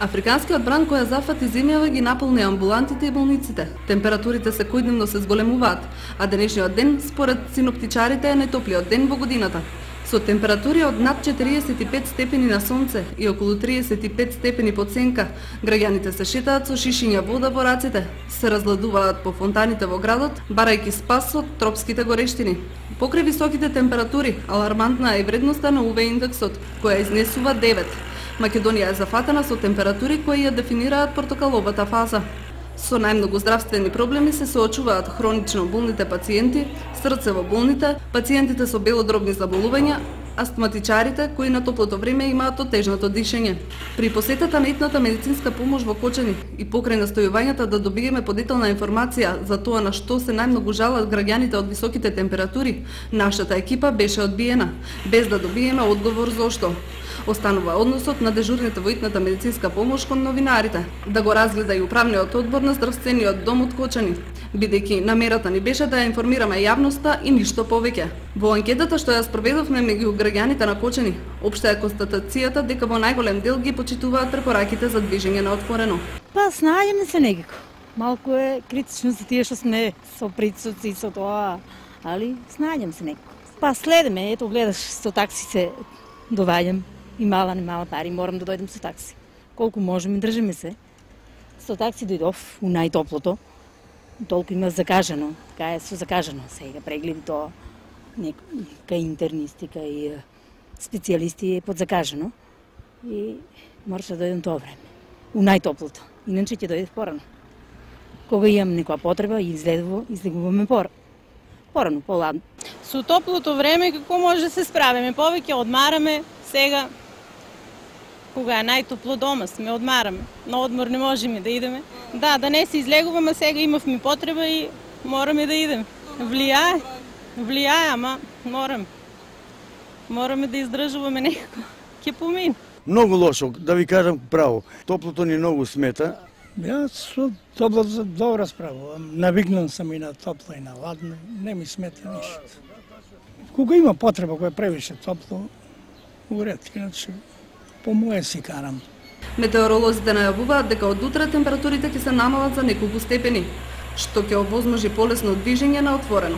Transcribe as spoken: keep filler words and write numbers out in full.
Африканскиот бран која зафати земјава ги наполни амбулантите и болниците. Температурите секојдневно се зголемуваат, а денешниот ден, според синоптичарите, е најтоплиот ден во годината. Со температури од над четириесет и пет степени на сонце и околу триесет и пет степени под сенка, граѓаните се шетаат со шишиња вода во рацете, се разгладуваат по фонтаните во градот, барајќи спас од тропските горештини. Покрај високите температури, алармантна е вредноста на У В индексот, која изнесува девет. Македонија е зафатена со температури кои ја дефинираат портокаловата фаза. Со најмногу здравствени проблеми се соочуваат хронично болните пациенти, срцево болните, пациентите со белодробни заболувања, астматичарите кои на топлото време имаат отежнато дишење. При посетата на итната медицинска помош во Кочани и покрај настојувањата да добиеме подетелна информација за тоа на што се најмногу жалат граѓаните од високите температури, нашата екипа беше одбиена, без да добиеме одговор зошто. Останува односот на дежурните во итната медицинска помош кон новинарите, да го разгледа и управниот одбор на здравствениот дом од Кочани, бидејќи намерата ни беше да ја информираме јавноста и ништо повеќе. Во анкетата што ја спроведовме меѓу граѓаните на Кочани, општа е констатацијата дека во најголем дел ги почитуваат препораките за движење на отворено. Па снаѓаме се некако. Малку е критично за тие што сме со присуци и со тоа, али снаѓам се некако. Па следеме, ето гледаш, со такси се доваѓам. И мала, не мала пари, морам да дојдем со такси. Колку можеме, држиме се. Со такси дојдов у најтоплото. Толку има закажано, така е со закажано. Сега прегледи тоа, кај интернисти, кај специјалисти е подзакажано. И мораше да дојдем тоа време. У најтоплото. Иначе ќе дојдев порано. Кога имам некоја потреба, излегува, излегуваме порано. Порано, поладно. Со топлото време како може да се справиме? Повеќе одмараме, сега кога е најтопло дома сме, одмараме. На одмор не можеме да идеме. Да, да не се излегуваме, сега имавме потреба и мораме да идеме. Влијае, влијае, ама мораме. Мораме да издржуваме некако. Ќе помине. Многу лошо, да ви кажам право. Топлото ни многу смета. Јас со топлото добро справувам. Навикнан сам и на топло и на ладно. Не ми смета ништо. Кога има потреба која е превише топло, уред, иначе по моје си карам. Метеоролозите најавуваат дека од утре температурите ќе се намалат за неколку степени, што ќе овозможи полесно движење на отворено.